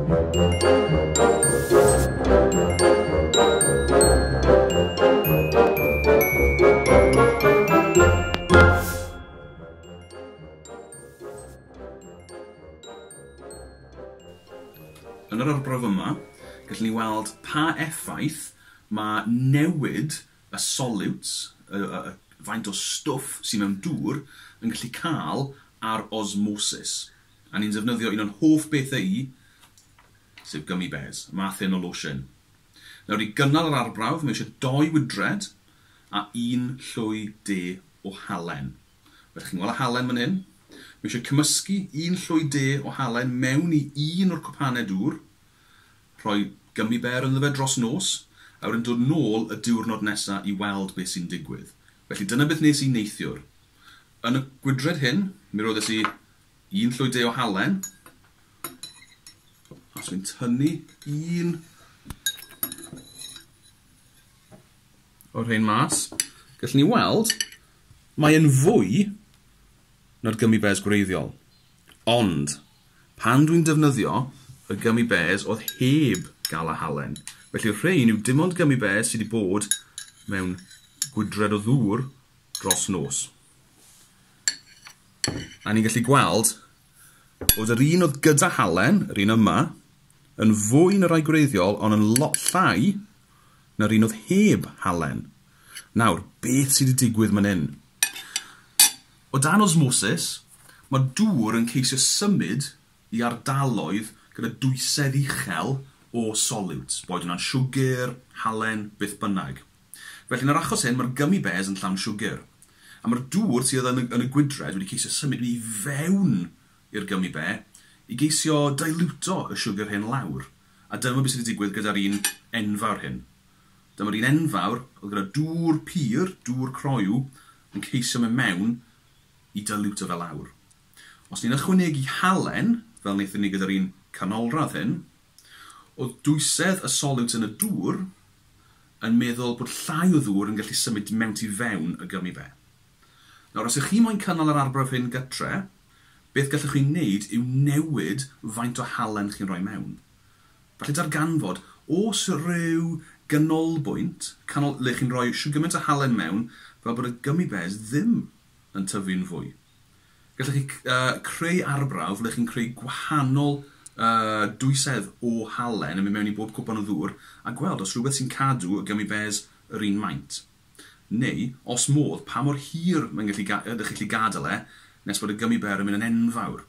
Yn yr arbrawf yma, gallwn ni weld pa effaith mae newid y solutes, y faint o stwff sydd mewn dŵr, yn gallu cael ar osmosis. A ni'n defnyddio un o'n hoff bethau i, sef gummy bears, math hyn o losin. Nawr i gynnal yr arbrawf, mae eisiau 2 wydred a 1 llwy de o halen. Felly chi'n gweld y halen fan hyn. Mae eisiau cymysgu 1 llwy de o halen mewn i un o'r cwpanau dŵr, rhoi gummy bear ynddo fe dros nos, a wedyn dod nôl y diwrnod nesaf i weld beth sy'n digwydd. Felly dyna beth nes i neithiwr. Yn y gwydred hyn, mi roddes i 1 llwy de o halen, a os dwi'n tynnu un o'r rhain mas, gallwn ni weld mae yn fwy na'r gummy bears gwreiddiol. Ond, pan dwi'n defnyddio y gummy bears oedd heb gael y halen. Felly rhain yw dim ond gummy bears sydd wedi bod mewn gwydred o ddŵr dros nos. A ni'n gallu gweld bod yr un oedd gyda halen, yr un yma, yn fwy na'r rai gwreiddiol, ond yn lot llai na'r un oedd heb halen. Nawr, beth sydd wedi digwydd man hyn? O dan osmosis, mae dŵr yn ceisio symud i ardaloedd gyda dwysedd uchel o solutes, boed hwnna'n siwgr, halen, beth bynnag. Felly yn yr achos hyn, mae'r gummy bears yn llawn siwgr. A mae'r dŵr sydd yn y gwydred wedi ceisio symud i fewn i'r gummy bear i geisio diluto y siwgr hyn lawr. A dyma beth sydd wedi digwydd gyda'r un enfawr hyn. Dyma'r un enfawr oedd gyda dŵr pur, dŵr croyw, yn ceisio mynd mewn i diluto fe lawr. Os ni'n ychwanegu halen, fel wnaethon ni gyda'r un canolradd hyn, oedd dwysedd y solute yn y dŵr yn meddwl bod llai o ddŵr yn gallu symud mewn tu fewn y gummy bear. Nawr, os ych chi moyn cynnal yr arbrawf hyn gytre, beth gallwch chi wneud yw newid faint o halen chi'n rhoi mewn. Felly darganfod, os rhyw ganolbwynt, le chi'n rhoi shwd gymaint o halen mewn, fel bod y gummy bears ddim yn tyfu'n fwy. Gallwch chi creu arbrawf le chi'n creu gwahanol dwysedd o halen yn mynd mewn i bob cwpan o ddŵr a gweld os rhywbeth sy'n cadw y gummy bears yr un maint. Neu, os modd, pa mor hir mae'n gallu ydych chi'n gallu gadael e nes bod y gummy bear yn mynd yn enfawr.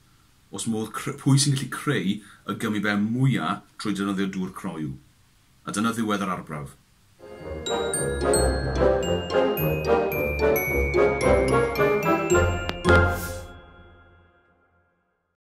Os modd, pwy sy'n gallu creu y gummy bear mwyaf trwy defnyddio dŵr croyw. A dyna ddiwedd yr arbrawf.